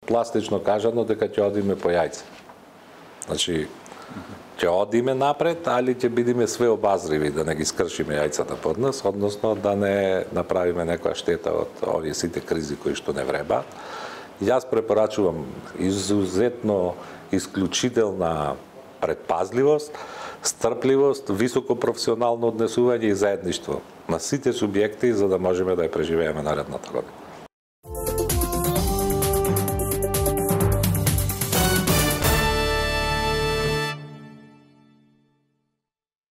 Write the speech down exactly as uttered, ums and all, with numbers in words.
Пластично кажано дека ќе одиме по јајце. Значи, ќе одиме напред, али ќе бидеме све обазриви, да не ги скршиме јајцата под нас, односно да не направиме некоја штета од овие сите кризи кои што не вреба. Јас препорачувам изузетно исклучителна предпазливост, стрпливост, високо професионално однесување и заедништво на сите субјекти за да можеме да ја преживееме наредната година.